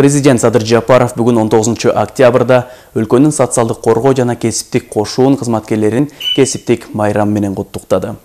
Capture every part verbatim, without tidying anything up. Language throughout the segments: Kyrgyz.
Президент Садыр Жапаров бүгүн он тогузунчу октябрда өлкөнүн социалдык коргоо жана кесиптик кошуун кызматкерлерин кесиптик майрам менен куттуктады.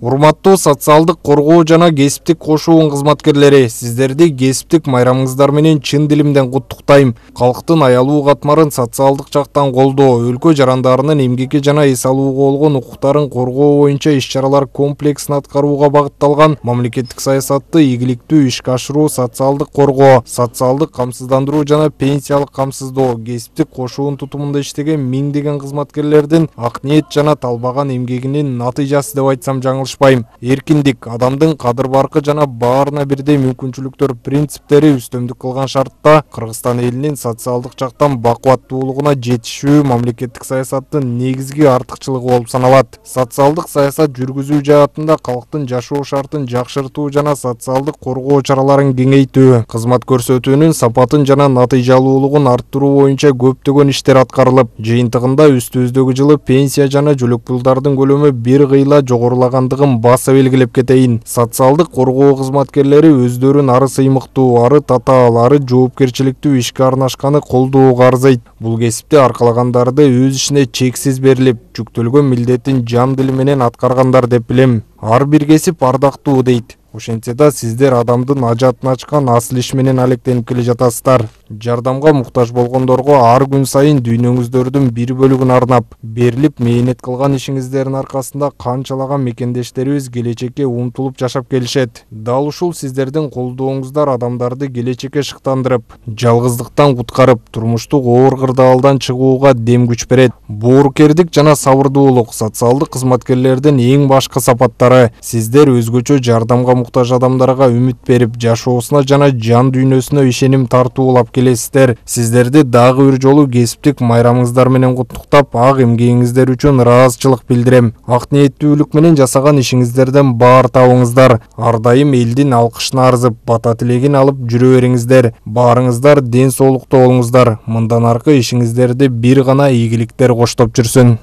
Урматтуу социалдык коргоо жана кесиптик кошуун кызматкерлери, сиздерди кесиптик майрамыңыздар менен чын дилимден куттуктайм. Калктын аялуу катмарын социалдык жактан колдоо, өлкө жарандарынын эмгекке жана эс алууга болгон укуктарын коргоо боюнча иш-чаралар комплексин аткарууга багытталган мамлекеттик саясатты ийгиликтүү ишке ашыруу, социалдык коргоо, социалдык камсыздандыруу жана пенсиялык камсыздоо, кесиптик кошуун тутумунда иштеген миңдеген кызматкерлердин ак ниет жана талбаган эмгегинин натыйжасы деп айтсам жаңылыш. Эркиндик, адамдын кадыр-баркы жана баарына бирдей мүмкүнчүлүктөр принциптери үстөмдүк кылган шартта Кыргызстан элинин социалдык жактан бакубаттуулугуна жетишүү мамлекеттик саясаттын негизги артыкчылыгы болуп саналат. Социалдык саясат жүргүзүү жаатында калктын жашоо шартын жакшыртуу жана социалдык коргоо чараларын кеңейтүү, кызмат көрсөтүүнүн сапатын жана натыйжалуулугун арттыруу боюнча көптөгөн иштер аткарылып, жыйынтыгында үстүбүздөгү жылы пенсия жана жөлөк пулдардын көлөмү бир кыйла жогорулагандыгы баса белгилеп кетейин. Социалдык коргоо кызматкерлери өздөрүн ары сыймыктуу, ары татаал, ары жоопкерчиликтүү ишке арнашканы колдоого арзыйт. Бул кесипти аркалагандарды өз ишине чексиз берилип, жүктөлгөн милдетин жан дили менен аткаргандар деп билем. Ар бир кесип ардактуу дейт. Ошентсе да сиздер адамдын ажатын ачкан асыл иш менен алектенип келе жатасыздар. Жардамга муктаж болгондорго ар күн сайын дүйнөңүздөрдүн бир бөлүгүн арнап, берилип мээнет кылган ишиңиздердин аркасында канчалаган мекендештерибиз келечекке умтулуп жашап келишет. Дал ушул сиздердин колдооңуздар адамдарды келечекке шыктандырып, жалгыздыктан куткарып, турмуштук оор кырдаалдан чыгууга дем күч берет. Боорукердик жана сабырдуулук социалдык кызматкерлердин эң башкы сапаттары. Сиздер өзгөчө жардамга муктаж адамдарга үмүт берип, жашоосуна жана жан дүйнөсүнө ишеним тартуулап келесиздер. Сиздерди дагы бир жолу кесиптик майрамыңыздар менен куттуктап, ак эмгегиңиздер үчүн ыраазычылык билдирем. Ак ниеттүүлүк менен жасаган ишиңиздерден баар табыңыздар. Ар дайым элдин алкышына арзып, бата тилегин алып жүрө бериңиздер. Баарыңыздар ден соолукта болуңуздар. Мындан аркы ишиңиздерди бир гана ийгиликтер коштоп жүрсүн.